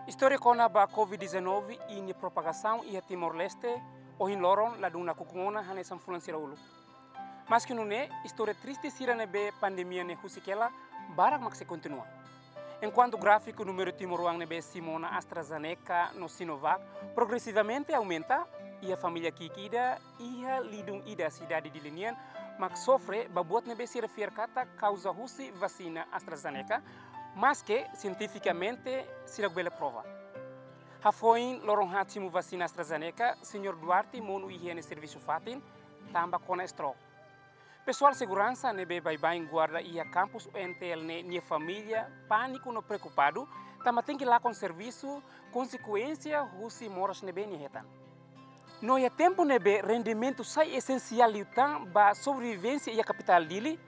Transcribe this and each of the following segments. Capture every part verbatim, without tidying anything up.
Istória kona-ba Covid dezanove i nia propagasaun iha Timor-Leste, ohin loron ladún nakukun ona hanesan fulan sira uluk. Maski nune'e, istória triste sira ne'ebé pandemia ne'e husik hela, barak mak sei kontinua. Enkuantu gráfiku númeru timoroan ne'ebé simu ona AstraZeneca no Sinovac progresivamente aumenta, iha família ki'ik ida iha lidun ida sidade Dili nian mak sofre ba buat ne'ebé sira fiar katak kauza husi vasina AstraZeneca, maske sientifikamente sira bele prova. Hafoin loron haat simu vasina AstraZeneca, Señór Duarte monu iha nia servisu fatin, tanba kona stroke. Pesoál seguransa ne'ebé baibain guarda iha kampus U N T L ne'e nia família pániku no preokupadu, tanba tenke lakon servisu, konsekuénsia husi moras ne'ebé nia hetan. No iha tempu ne'ebé rendimentu sai esensiál liután ba sobrevivénsia iha kapitál Dili,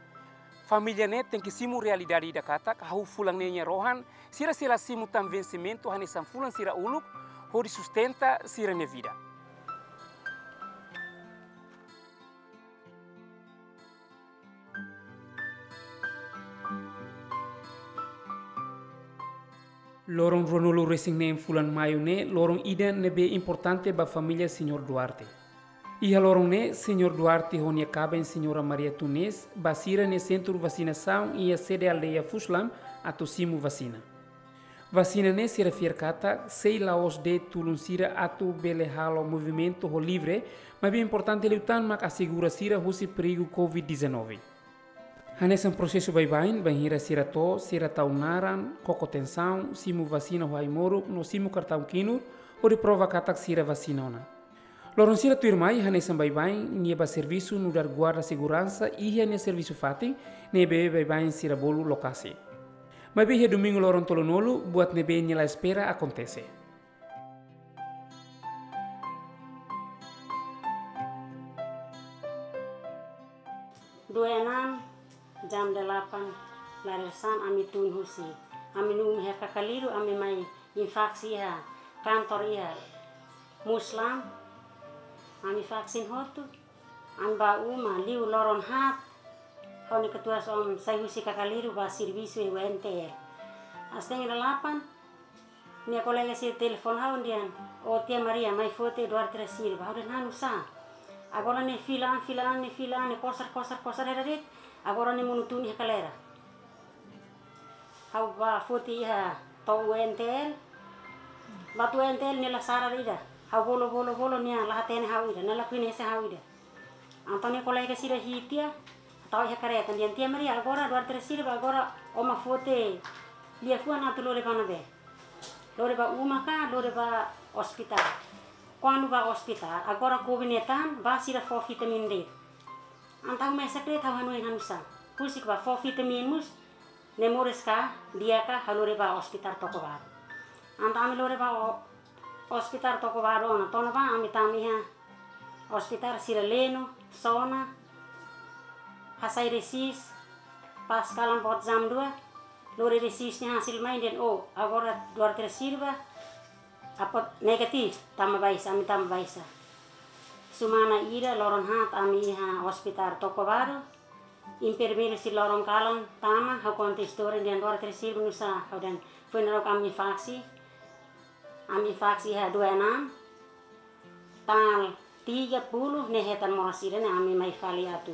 família ne'e tenke simu realidade ida katak, hahú fulan ne'e nia rohan, sira sei la simu tan vensimentu hanesan fulan sira uluk, hodi sustenta sira-nia vida. Loron ruanulu-resin-neen fulan Maiu ne'e loron ida ne'ebé importante ba família Señór Duarte. Iha loron ne'e, Señór Duarte ho nia kaben Señora Maria Tunes ba sira-nia sentru vasinasaun iha sede aldeia Fuslam atu simu vasina. Vasina ne'e sira fiar katak sei la'ós de'it tulun sira atu bele halo movimentu ho livre, maibé importante liután mak asegura sira husi perigu Covid dezanove. Hanesan prosesu baibain, bainhira sira to'o, sira tau naran, koko tensaun, simu vasina ho ai-moruk, no simu kartaun kinur, hodi prova katak sira vasina ona. Loron sira tuirmai, hanesan baibain nia ba servisu nu'udar guarda seguransa iha nia servisu fatin, ne'ebé baibain sira bolu lokasi. Maibé iha domingu loron tolunulu, buat ne'ebé nia la espera akontese. Dua enam, jam delapan, larisan ami tun husi. Ami numi iha Kakaliru, ami mai infaksi iha kantor iha Muslam. Ami vaksin hotu, ami ba uma liu loron haat. Ha'u-nia katuas-oan sai husi Kakaliru ba servisu iha U N T L. Setengah delapan, nia kolega sira telefon ha'u dehan, "Ó tia Maria, mai foti Duarte da Silva." Ha'u dehan, "Nu'usá?" "Agora ne'e fila an, fila an, ne'e fila an, ne'e kosar, kosar, kosar hela de'it. Agora ne'e monu tun iha kalera." Ha'u ba foti iha to'o U N T L. Ba to'o U N T L nia la sarani ida. Ha'u bolu, bolu, bolu, nia la hatene ha'u ida, nia la koñese ha'u ida. Entaun nia kolega sira hi'it tiha, tau iha kareta, dehan, "Tia Maria, agora Duarte da Silva, agora ó mak foti liafuan atu lori ba ne'ebé?" "Lori ba uma ka lori ba ospitál?" "Kuandu ba ospitál, agora Covid ne'e tan, ba sira fó vitamina de'it." Entaun mesak de'it, ha'u hanoin hanu'usá. Husik ba fó vitamina mós, ne'e moris ka di'ak ka, ha'u lori ba ospitál Tocobaru. Entaun ami lori ba o-, ospitál Tocobaru ona, to'o ona ba ami tama iha ospitál sira leno, sona, hasai resis, pas kalan boot jam dua, lori resis nia hasil mai dehan, "Ó, agora Duarte da Silva, apot negatif, tama baixa, ami tama baixa." Semana ida, loron haat, ami iha ospitál Tocobaru. Enfermeiru sira loron kalan tama, ha'u konta istória dehan, "Duarte da Silva, nu'usá?" Ha'u dehan, "Foin loron ami faksi, ami faksi iha dua enam, tanggal tiga puluh ne'e hetan moras ida ne'e, ami mai fali atu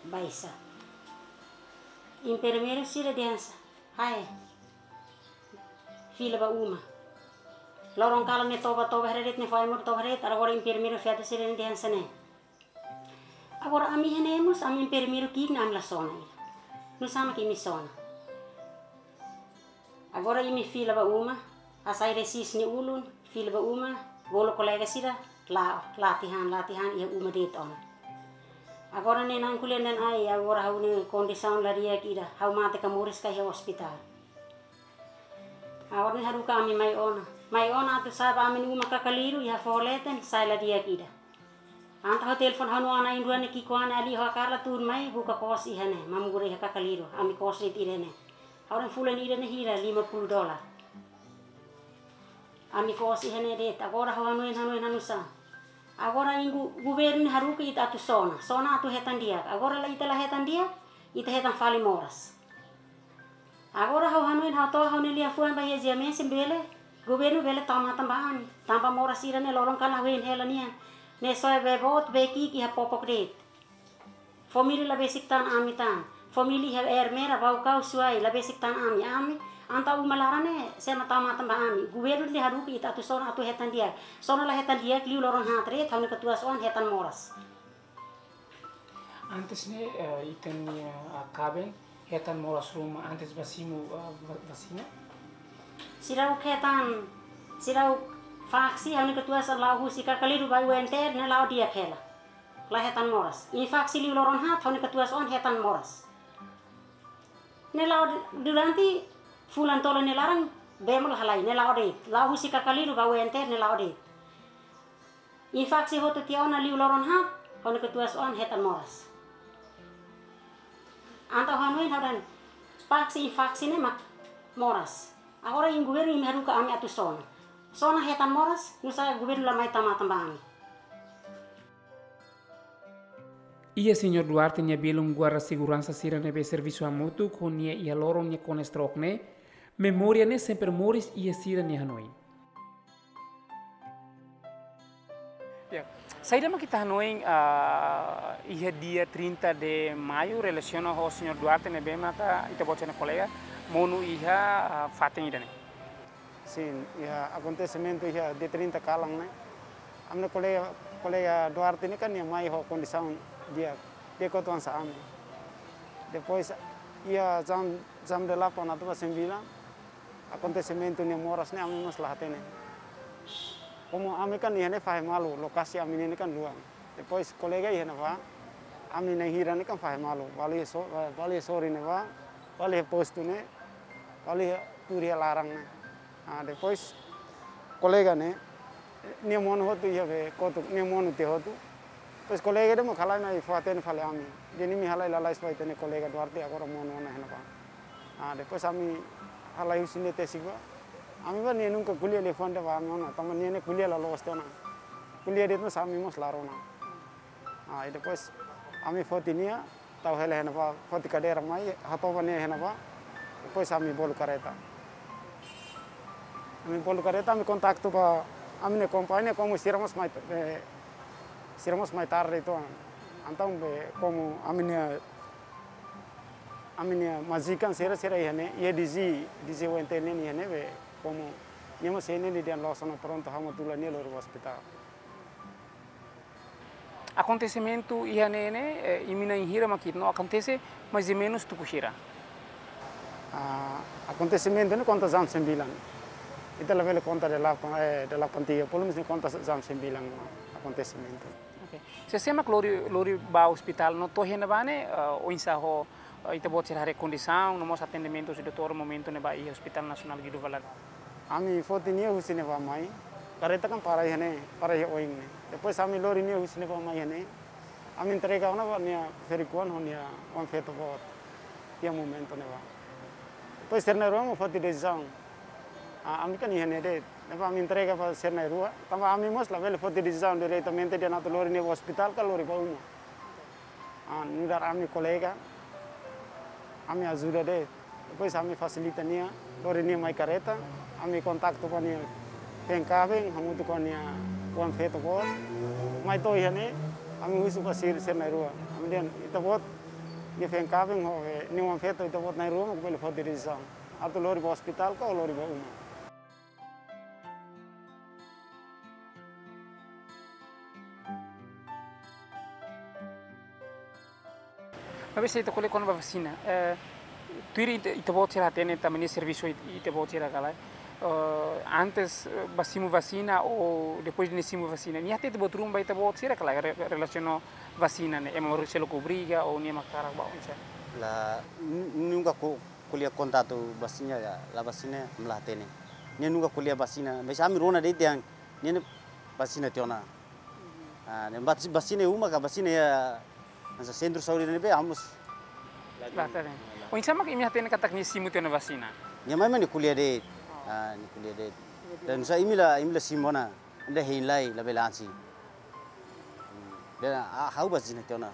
baixa." Enfermeiru sira dehan sá, "Hai, fila ba uma. Loron kalan ne'e toba, toba hela de'it, ne'e fó ai-moruk toba hela de'it." Agora enfermeiru feto sira dehan hanesan ne'e, "Agora ami iha ne'e mós, ami enfermeiru ki'ik ne'e ami la sona ida. Nu'usá mak imi sona? Agora imi fila ba uma, hasai resis nia ulun, fila ba uma, bolu kolega sira, la, la tihan, la tihan, iha uma de'it ona. Agora ne'e na'in ko'alia dehan, ai, agora ha'u-nia kondisaun la di'ak ida, ha'u mate ka moris ka iha ospitál." Agora ne'e haruka ami mai ona. Mai ona atu sa'e ba ami-nia uma Kakaliru, iha foho leten, sa'e la di'ak ida. Entaun ha'u telefon ha'u-nia oan na'in-rua ne'e ki'ikoan ne'e, "Ali, ho Carla tun mai buka kos iha ne'e, mamugre iha Kakaliru, ami kos de'it iha ne'e." Ha'u dehan, "Fulan ida ne'e hira?" "Lima puluh dolar." "Ami kos iha ne'e de'it." Agora ha'u hanoin, hanoin hanu'usá. Agora imi, governu ne'e haruka ita atu sona, sona atu hetan di'ak. Agora la, ita la hetan di'ak, ita hetan fali moras. Agora ha'u hanoin, ha'u to'o ha'u-nia liafuan ba iha GMS bele, Governu bele tau matan ba ami, tanba moras sira-ne'e loron kan la hein hela nian. Ne'e soe bee boot, bee ki'ik iha popok de'it. Família la besik tan ami tan. Família iha Ermera, Baucau, Suai, la besik tan ami. Ami, entaun uma laran ne'e, sé mak tau matan ba ami. Governu nia haruka ita atu sona atu hetan di'ak. Sona la hetan di'ak, liu loron haat de'it, ha'u-nia katuas-oan hetan moras. Antes ne'e, eh, ita-nia, eh, kaben hetan moras ruma antes ba simu, eh, va-, vasina? Seidauk hetan, seidauk faksi, ha'u-nia katuas la'o husi Kakaliru ba U N T R, ne'e la'o di'ak hela. La hetan moras. Infeksi liu loron haat, ha'u-nia katuas-oan hetan moras. Ne'e la'o durante fulan tolu nia laran, bee mós la halai, ne'e la'o de'it. La'o husi Kakaliru ba U N T R, ne'e la'o de'it. Infeksi hotu tiha ona liu loron haat, ha'u-nia katuas-oan hetan moras. Entaun hanoin ha'u dehan, faksi infeksi ne'e mak moras. Agora imi governu imi haruka ami atu sona. Sona hetan moras, nusá governu la mai tau matan ba ami. Iha Señór Duarte nia belun guarda seguransa sira ne'ebé servisu hamutuk ho nia iha loron nia kona stroke ne'e, memória ne'e sempre moris iha sira-nia hanoin. Ya. Saida mak ita hanoin, ah, iha dia trinta de Maio relasiona ho Señór Duarte ne'ebé maka ita-boot sira-nia kolega monu iha, ah, fatin ida-ne'e? Sin, iha akontesimentu iha dia trinta kalan ne'e. Ami-nia kolega, kolega Duarte ne'e kan nia mai ho kondisaun di'ak, di'ak kotu hanesan ami. Depois iha jam, jam delapan atu ba sembilan, akontesimentu nia moras ne'e ami mós la hatene. Komu ami kan iha ne'e fahe malu, lokasi ami ne'e kan luan. Depois kolega iha ne'ebá, ami na'in hira ne'e kan fahe malu. Bá halo so-, bá halo sorin ne'ebá, bá halo postu ne'e, bá halo tuur iha laran ne'e. Ah, depois kolega ne'e, nia monu hotu iha be kotuk, nia monu tiha hotu. Depois kolega ida mós halai mai fó-hatene fali ami. Dehan imi halai lalais fó-hatene kolega Duarte agora monu ona iha ne'ebá. Ah, depois ami halai husi ne'e tesik bá. Ami bá nia nunka ko'alia liafuan ida ba ami ona, tanba nia ne'e ko'alia la loos tiha ona. Ko'alia de'it mós ami mós la rona. Ah, i depois ami foti nia, tau hela iha ne'ebá, foti kadeira mai, hato'o ba nia iha ne'ebá. Depois ami bolu kareta. Ami bolu kareta, ami kontaktu ba ami-nia kompañia, komu sira mós mai, eh, sira mós mai tarde uitoan. Entaun be komu ami-nia, ami-nia majikan sira, sira iha ne'e, iha D G, D G U N T R ne'e iha ne'e be komu nia mós iha ne'e, nia dehan loos ona, prontu, ha'u mak tula nia lori ba ospitál. Akontesimentu iha ne'e ne'e, eh, imi na'in hira mak ita no akontese, mais ou menus tuku hira? Ah, akontesimentu ne'e konta jam sembilan. Ita labele konta delapan, eh, delapan tiga, pelumenus ne'e konta jam sembilan akontesimentu. Oke. Sé-sé mak lori, lori ba ospitál no to'o iha ne'ebá ne'e, eh, oinsá ho, eh, ita-boot sira haree kondisaun, no mós atendimentu husi doutór momentu ne'ebá iha Hospital Nasionál Guido Valadares? Ami foti nia husi ne'ebá mai, kareta kan para iha ne'e, para iha oin ne'e. Depois ami lori nia husi ne'ebá mai iha ne'e, ami entrega ona ba nia ferik-oan ho nia oan-feto boot iha momentu ne'ebá. Depois sira na'in-rua mós foti desizaun. Ah, ami kan iha ne'e de'it. Depois ami entrega ba sira na'in-rua. Tanba ami mós labele foti desizaun diretamente dehan atu lori nia ba ospitál ka lori ba uma. Ah, nu'udar ami kolega, ami ajuda de'it. Depois ami fasilita nia, lori nia mai kareta, ami kontaktu ho nia feen-kaben, hamutuk ho nia oan-feto boot. Mai to'o iha ne'e, ami husu ba sira, sira na'in-rua. Ami dehan, ita-boot nia feen-kaben ho, eh, nia oan-feto, ita-boot na'in-rua mak bele foti desizaun. Atu lori ba ospitál ka lori ba uma. Maibé se ita ko'alia kona-ba vasina, eh, tuir ita, ita-boot sira hatene tanba nia servisu it-, ita-boot sira ka lae. Eh, antes, eh, ba simu vasina ou depois de nia simu vasina. Nia hatete ita-boot ruma ba ita-boot sira ka lae re-, relasiona vasina ne'e. Ema seluk obriga ou nia mak hakarak ba oinsá? La, nu-, nunka ko-, ko'alia konta atu vasina ka la vasina, ami la hatene. Nia nunka ko'alia vasina, mais ami rona de'it dehan nia ne'e vasina tiha ona. Ah, ne'e bas-, vasina iha uma ka vasina iha, hanesan sentru saúde ne'ebé, ami mós la hatene. Oinsá mak imi hatene katak nia simu tiha ona vasina? Nia mai mak nia ko'alia de'it. Ah, nia ko'alia de'it. Dehan nusá imi la, imi la simu ona, imi la hein lai, labele ansi. Hmm. Dehan, ah, ha'u vasina tiha ona.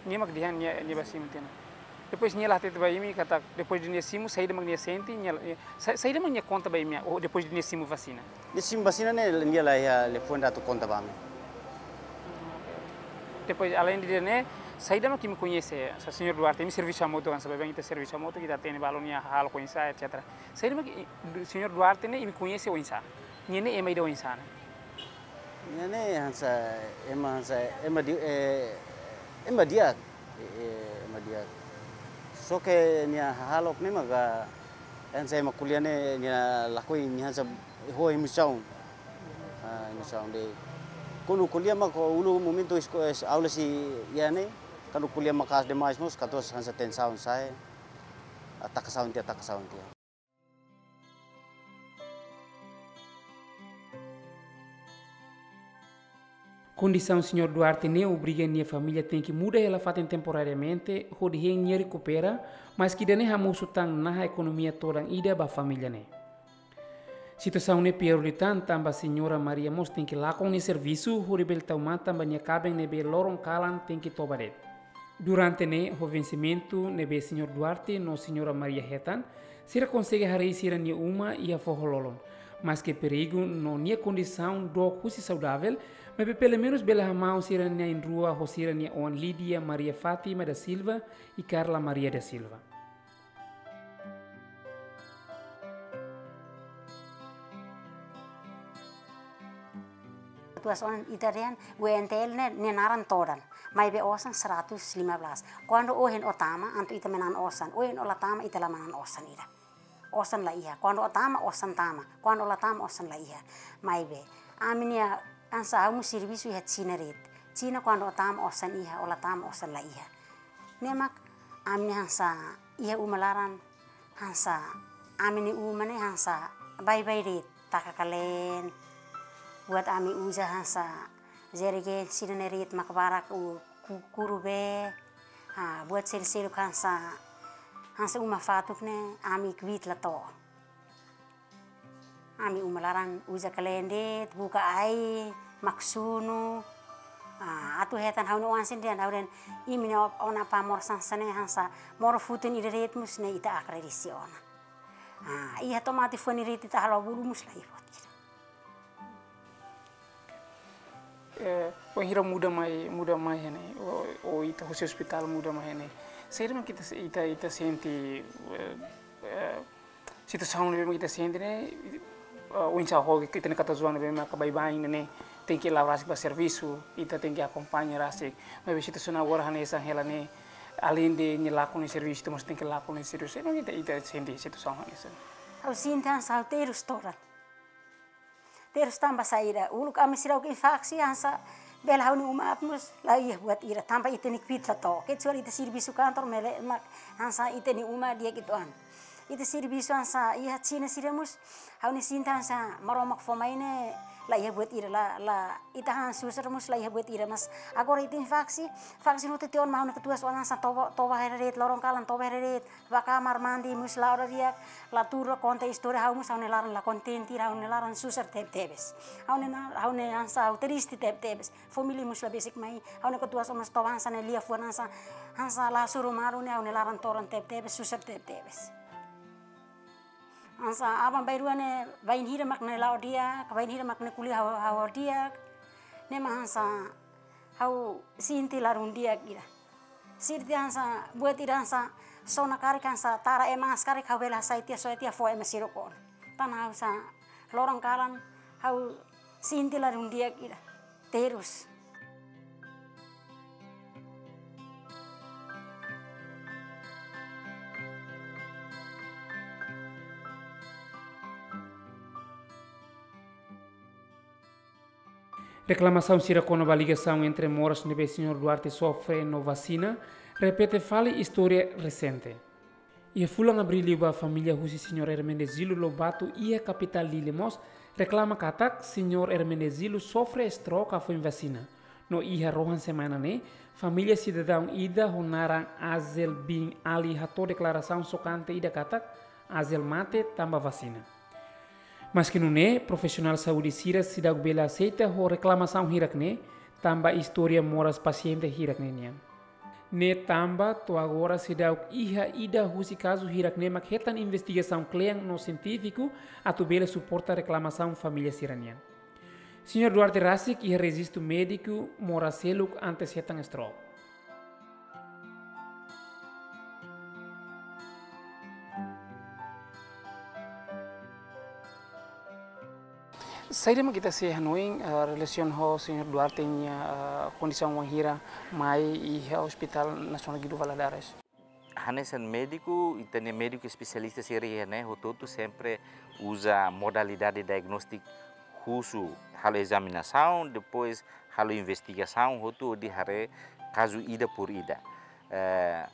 Nia mak dehan nia, nia ba simu tiha ona. Depois nia la hatete ba imi katak, depois de nia simu, saida mak nia sente, nia, eh, sa-, saida mak nia konta ba imi, ou depois de nia simu vasina? Nia simu vasina ne'e, nia la iha liafuan atu konta ba ami. Depois, além de ne'e, saida mak imi koñese, sa señór Duarte, imi servisu hamutuk kan, sabe bem, ita servisu hamutuk, ita hatene balun nia hahalok oinsá, etcétera. Saida mak i-, du-, señór Duarte ne'e, imi koñese oinsá? Nia ne'e ema ida oinsá ne'e? Nia ne'e hanesan, ema hanesan, ema di-, eh, ema di'ak, eh, eh, ema di'ak. Só ke nia hahalok ne'e maka, hanesan ema ko'alia ne'e, nia lakohi, nia hanesan ho emosaun. Ah, emosaun de'it. Kuandu ko'alia mak uluk momentu esko-, es-, aula sei iha ne'e, kuandu ko'alia maka'as demais mós, katuas hanesan tensaun sa'e, atakasaun tiha, atakasaun tiha. Kondisaun señór Duarte ne'e obriga nia família tenke muda hela fatin temporariamente, hodi hein nia rekupera, maski ida-ne'e hamosu tan naha ekonomia todan ida ba família ne'e. Situasaun ne'e piór liután tanba señora Maria mós tenke lakon nia servisu, hodi bele tau matan ba nia kaben ne'ebé loron kalan tenke toba de'it. Durante ne'e, ho vensimentu ne'ebé señór Duarte no señora Maria hetan, sira konsege harii sira-nia uma iha foho-lolon. Maski perigu no nia kondisaun dook husi saudavel, maibé pelumenus bele hamaun sira na'in-rua ho sira-nia oan Lídia Maria Fátima da Silva i Carla Maria da Silva. Katuas oan ita dehan, W N T L ne'e, nia naran todan. Maibé osan seratus lima belas. Kuandu ohin ó tama, entaun ita manán osan. Ohin ó la tama, ita la manán osan ida. Osan la iha. Kuandu ó tama, osan tama. Kuandu ó la tama, osan la iha. Maibé, ami-nia hanesan ha'u mós servisu iha Xina de'it. Xina kuandu ó tama, osan iha, ó la tama, osan la iha. Ne'e mak ami hanesan iha uma laran hanesan ami-nia uma ne'e hanesan baibain de'it, taka kaleen. Buat ami uza hanesan jergen sira-ne'e de'it mak barak u ku-, kuru bee. Ha, buat seluk-seluk hanesan, hanesan uma fatuk ne'e ami kbiit la to'o. Ami uma laran uza kaleen de'it, buka ai, mak sunu. Ah, atu hetan ha'u-nia oan sira dehan, ha'u dehan, imi-nia o-, ona apá moras hanesan ne'e hanesan, moras futun ida de'it mós ne'e ita agradese ona. Ah, iha tomate fuan ida de'it ita halo bolu mós la iha buat ida. Eh, wainhira muda mai, muda mai iha ne'e, ou, ou ita husi ospitál muda mai iha ne'e. Saida mak ita, ita, ita sente, eh, eh, situasaun ne'ebé mak ita sente ne'e, eh, oinsá ho ita-nia katuas oan ne'ebé maka baibain ne'e, tenke la'o rasik ba servisu, ita tenke akompaña rasik. Maibé situasaun agora hanesan hela ne'e, além de nia lakon nia servisu, ita mós tenke lakon nia servisu. Saida mak ita, ita sente situasaun hanesan? Ha'u sente hanesan ha'u terus todan. Terus tanba saida, uluk ami seidauk infaksi hanesan bele ha'u-nia uma aat mós la iha buat ida, tanba ita-nia kbiit la to'o. Kecuali ita servisu kantor mele mak hanesan ita-nia uma di'ak uitoan. Ita servisu hanesan iha Xina sira mós, ha'u-nia sente hanesan Maromak fó mai ne'e la iha buat ida, la, la, ita han susar mós la iha buat ida, mas agora ita infaksi, faksi no tiha ona mak ha'u-nia katuas oan hanesan toba, toba hela de'it, loron kalan toba hela de'it, bá kamar mandi mós la'o di'ak, la tuur, la konta istória, ha'u mós ha'u-nia laran la kontente, ha'u-nia laran susar teb-tebes. Ha'u-nia na-, ha'u-nia hanesan ha'u triste teb-tebes. Família mós la besik mai, ha'u-nia katuas oan mós toba hanesan ne'e liafuan hanesan, hanesan la hasoru malu ne'e ha'u-nia laran todan teb-tebes, susar teb-tebes. Hanesan aban-bainrua ne'e bainhira mak ne'e la'o di'ak, bainhira mak ne'e ko'alia ha'u, ha'u di'ak. Ne'e mak hanesan ha'u sente ladún di'ak ida. Sente hanesan buat ida hanesan sona karik hanesan tara ema hanesan karik ha'u bele hasai tiha, soe tiha fó ema sira ona. Tan ha'u hanesan loron kalan ha'u sente ladún di'ak ida. Terus. Reklamasaun sira kona-ba ligasaun entre moras ne'ebé señór Duarte sofre no vasina repete fali istória resente. Iha fulan Abríl liubá, família husi señór Hermenegildo Lobato iha kapitál Dili mós reklama katak señór Hermenegildo sofre stroke hafoin vasina. No iha rohan semana ne'e, família sidadaun ida ho naran Azel bin Ali hato'o deklarasaun xokante ida katak Azel mate tanba vasina. Maski nune'e, profisionál saúde sira seidauk bele aseita ho reklamasaun hirak-ne'e, tanba istória moras pasiente hirak-ne'e nian. Ne'e tanba to'o agora seidauk iha ida husi kazu hirak-ne'e mak hetan investigasaun kle'an no sientífiku atu bele suporta reklamasaun família sira-nian. Señór Duarte rasik iha rejistu médiku moras seluk antes hetan stroke. Saida mak ita sei hanoin, eh, relasiona ho Señór Duarte nia, eh, kondisaun wainhira mai iha Hospital Nasionál Guido Valadares? Hanesan médiku, ita-nia médiku espesialista sira iha ne'e hotu-hotu sempre uza modalidade diagnóstiku husu halo ezaminasaun, depois halo investigasaun hotu hodi haree kazu ida por ida. Eh,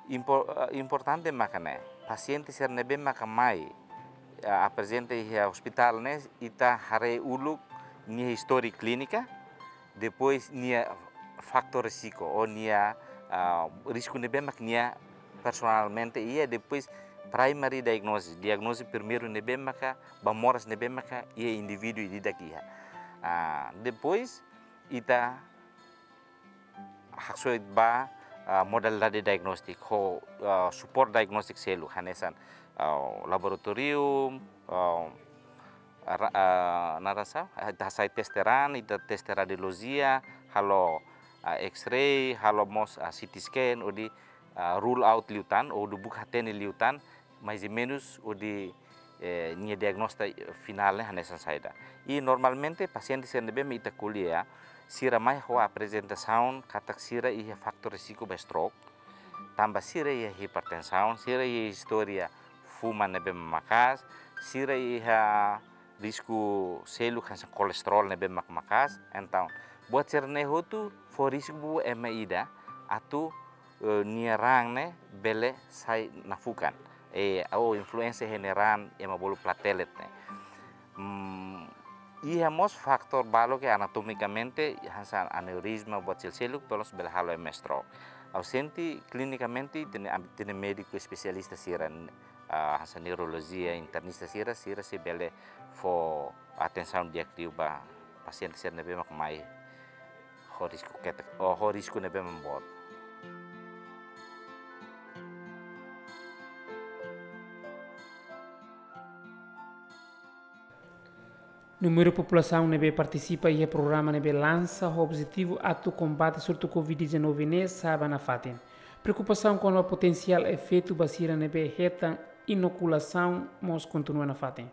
impo-, eh, importante maka ne'e, pasiente sira ne'ebé maka mai, eh, aprezenta iha ospitál ne'e, ita haree uluk nia istória klínika, depois nia fatór risku, ou nia, ah, risku ne'ebé mak nia personalmente iha, depois primary diagnosis, diagnóze primeiru ne'ebé maka ba moras ne'ebé maka iha indivíduu ida-idak iha. Ah, depois ita haksoit ba, ah, modalidade diagnóstiku ho, ah, suporte diagnóstiku seluk hanesan, ah, laboratorium, ah, ra-, ah, naran sá, ah, ita hasai teste raan, ita teste radiolojia, halo, ah, X-ray, halo mós, ah, C T scan, hodi, ah, rule out liután, hodi buka hatene liután, mais ou menus hodi, eh, nia diagnóstiku finál ne'e hanesan saida. I normalmente pasiente sira ne'ebé mak ita ko'alia, sira mai ho aprezentasaun katak sira iha fatór risku ba stroke, tanba sira iha hipertensaun, sira iha istória fuma ne'ebé mak maka'as, sira iha risku seluk hanesan kolesterol ne'ebé mak maka'as. Entaun, buat sira-ne'e hotu fó risku ba ema ida atu, eh, nia raan ne'e bele sai nafukan. Eh, ou influénsia iha nia raan ema bolu platelet ne'e. Hmm, iha mós fatór balu ke anatomikamente, hanesan aneurizma, buat sel-seluk, pelos bele halo ema stroke. Ha'u sente klinikamente, ita-nia am-, ita-nia médiku espesialista sira, ah, hanesan neurolojia, internista sira, sira sei bele fó atensaun di'ak liu ba pasiente sira ne'ebé mak mai ho risku ketak, ou ho risku ne'ebé mak boot. Númeru populasaun ne'ebé partisipa iha programa ne'ebé lansa ho objetivu atu kombate surtu covid dezanove ne'e sa'e ba nafatin. Preokupasaun kona-ba potensiál efeitu ba sira ne'ebé hetan inokulasaun mós kontinua nafatin.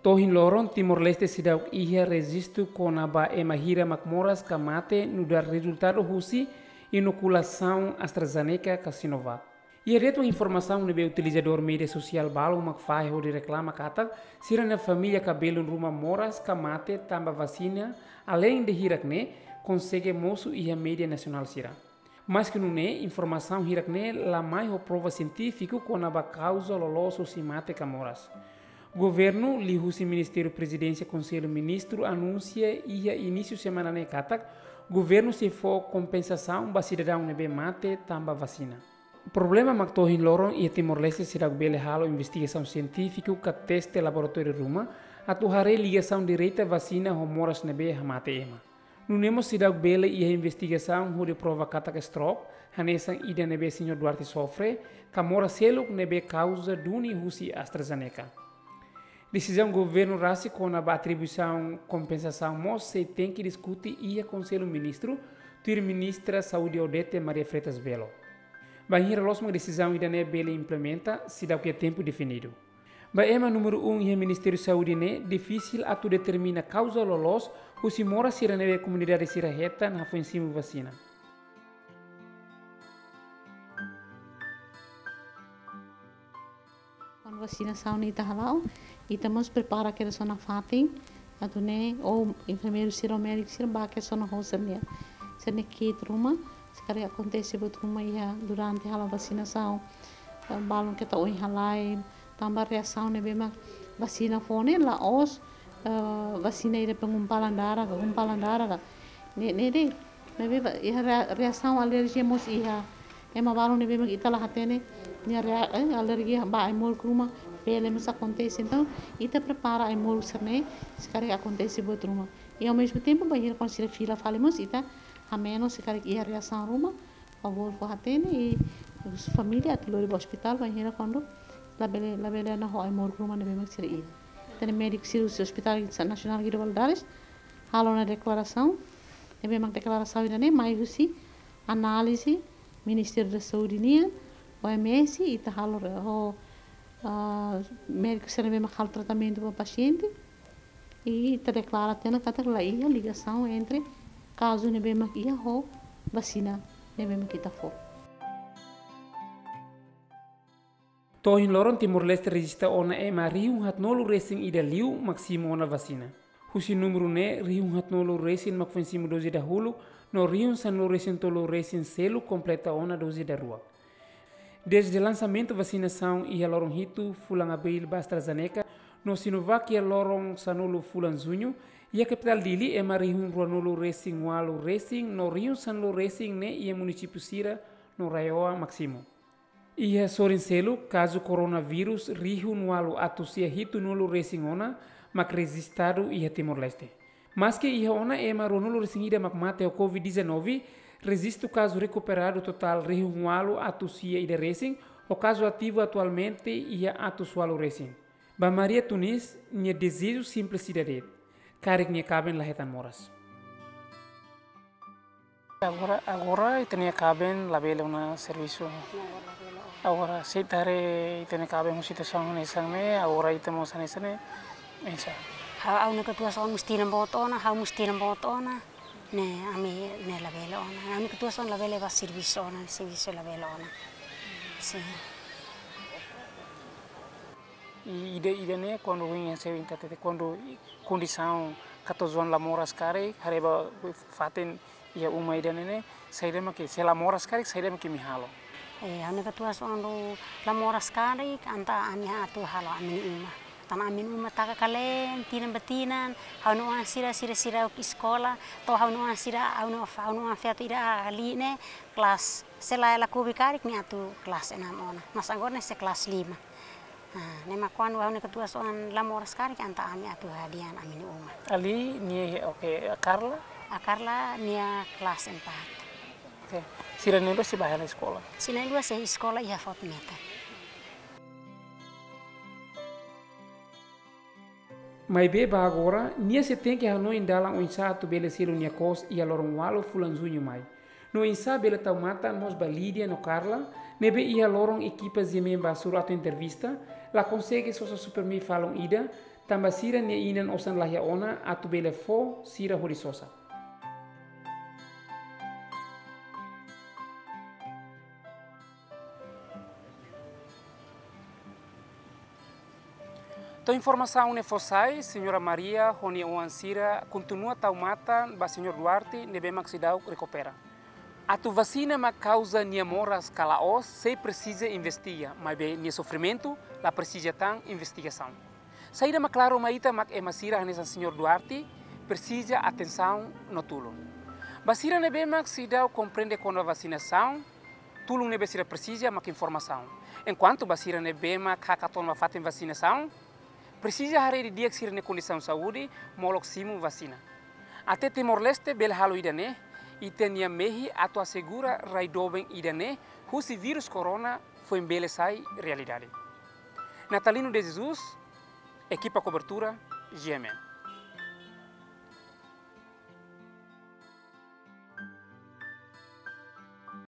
To'o ohin loron, Timor-Leste seidauk iha rejistu kona-ba ema hira mak moras ka mate nu'udar rezultadu husi inokulasaun AstraZeneca ka Sinovac. Iha de'it mak informasaun ne'ebé utilizadór média sosiál balu mak fahe hodi reklama katak sira-nia família ka belun ruma moras ka mate tanba vasina, aleinde hirak-ne'e, konsege mosu iha média nasionál sira. Maske nune'e, informasaun hirak-ne'e la mai ho prova sientífiku kona-ba kauza loloos husi mate ka moras. Governu, liuhusi Ministériu Prezidénsia Konsellu Ministru, anunsia iha inísiu semana ne'e katak governu sei fó kompensasaun ba sidadaun ne'ebé mate tanba vasina. Problema mak to'o ohin loron iha Timor-Leste seidauk bele halo investigasaun sientífiku ka teste laboratóriu ruma atu haree ligasaun direta vasina ho moras ne'ebé hamate ema. Nune'e mós seidauk bele iha investigasaun hodi prova katak stroke, hanesan ida ne'ebé Señór Duarte sofre, ka moras seluk ne'ebé kauza duni husi AstraZeneca. Desizaun governu rasik kona-ba atribuisaun kompensasaun mós sei tenke diskute iha Konsellu Ministru, tuir Ministra Saúde Odete Maria Freitas Belo. Bainhira loos mak desizaun ida-ne'e bele implementa, seidauk iha tempu definidu. Ba ema númeru um iha Ministériu Saúde ne'e, difisil atu determina kauza loloos husi moras sira ne'ebé komunidade sira hetan hafoin simu vasina. Kuandu vasinasaun ita hala'o, ita mós prepara kedas ona fatin, atu nune'e, ou enfermeiru sira, ou médiku sira, bá kedas ona ho sira-nia, sira-nia kit ruma, se karik akontese buat ruma iha durante halo vasinasaun, eh, balun keta oin halai, tanba reasaun ne'ebé mak vasina fó ne'e la'ós, eh, vasina ida pengumpalan darah ka, gumpalan darah ka. Ne'e, ne'e de'it, maibé ba, iha rea-, reasaun alerjia mós iha. Ema balun ne'ebé mak ita la hatene, nia rea-, eh, alerjia ba ai-moruk ruma, bele mós akontese. Entaun, ita prepara ai-moruk sira-ne'e, se karik akontese buat ruma. I ao mesmo tempo, bainhira kuandu sira fila fali mós, ita hamenus se karik iha reasaun ruma, Favór fó hatene i família atu lori ba ospitál, bainhira kuandu labele, labele ona ho ai-moruk ruma ne'ebé mak sira iha. Ita-nia médiku sira husi Hospital Nasionál Guido Valadares halo ona deklarasaun, ne'ebé mak deklarasaun ida-ne'e mai husi análize Ministériu da Saúde nian, O M S, ita halo re-, ho, ah, médiku sira ne'ebé mak halo tratamentu ba pasiente, i ita deklara tiha ona katak la iha ligasaun entre kazu ne'ebé mak iha ho vasina ne'ebé mak ita fó. To'o ohin loron Timor-Leste rejista ona ema rihun haatnulu resin ida liu mak simu ona vasina. Husi númeru ne'e, rihun haatnulu resin mak foin simu doze dahuluk, no rihun sanulu resin tolu resin seluk kompleta ona doze daruak. Dezde lansamentu vasinasaun iha loron hitu fulan Abríl ba AstraZeneca, no Sinovac iha loron sanulu fulan Juñu, iha kapitál Dili ema rihun ruanulu resin ualu resin, no rihun sanulu resin ne'e iha munisípiu sira no RAEOA mak simu. Iha sorin seluk, kazu koronavírus rihun ualu atus sia hitunulu resin ona mak rejistadu iha Timor-Leste. Maski iha ona ema ruanulu resin ida mak mate ho covid dezanove, rejistu kazu rekuperadu totál rihun ualu atus sia ida resin, ho kazu ativu atualmente iha atus ualu resin. Ba Maria Tunis, nia dezeju simplisidade de'it, karik nia kaben la hetan moras. Agora, agora ita-nia kaben labele ona servisu. Agora, se ita haree ita-nia kaben ho situasaun hanesan ne'e, agora ita mós hanesan ne'e, oinsá? Ha'u, ha'u-nia katuas-oan mós tinan boot ona, ha'u mós tinan boot ona. Ne'e, ami ne'e labele ona. Ha'u-nia katuas-oan labele ba servisu ona, servisu labele ona. Sin. I ida, ida-ne'e kuandu ohin ha'u sei hatete, kuandu i kondisaun katuas-oan la moras karik, haree ba fatin iha uma ida-ne'e ne'e, saida mak, se la moras karik, saida mak imi halo? Eh, ha'u-nia katuas-oan la moras karik, entaun ami atu halo ami-nia uma. Tanba ami-nia uma taka kalen, tinan ba tinan, ha'u-nia oan sira, sira, sira eskola, to'o ha'u-nia oan sira, ha'u-nia, ha'u-nia oan feto ida Ali ne'e, kelas, se la, la kobi karik nia atu kelas enam ona. Mas agora ne'e sei kelas lima. Ah, ne'e mak kuandu ha'u-nia katuas-oan la moras karik entaun ami atu hadi'a ami-nia uma. Ali nia, oke, Carla? A Carla nia kelas empat. Oke. Sira na'in-rua sei bá hela eskola? Sira na'in-rua sei eskola iha Fort Metter. Maibé ba agora, nia sei tenke hanoin dalan oinsá atu bele selu nia kos iha loron ualu fulan Juñu mai. No oinsá bele tau matan mós ba Lídia no Carla, ne'ebé iha loron ekipa GMN Basur atu entrevista, la konsege sosa Supermi falun ida, tanba sira-nia inan osan la iha ona atu bele fó sira hodi sosa. To'o informasaun ne'e fó sai, Señora Maria ho nia oan sira kontinua tau matan ba Señór Duarte ne'ebé mak seidauk rekupera. Atu vasina mak kauza nia moras ka la'ós, sei presiza investiga, maibé nia sofrimentu la presiza tan investigasaun. Saida mak klaru mai ita mak ema sira hanesan Señór Duarte presiza atensaun no tulun. Ba sira ne'ebé mak seidauk komprende kona-ba vasinasaun, tulun ne'ebé sira presiza mak informasaun. Enkuantu ba sira ne'ebé mak hakat ona ba fatin vasinasaun, presiza haree didi'ak sira-nia kondisaun saúde molok simu vasina. Até Timor-Leste bele halo ida-ne'e, ita-nia mehi atu asegura rai doben ida-ne'e husi vírus korona foin bele sai realidade. Natalino de Jesus, ekipa kobertura, GMN.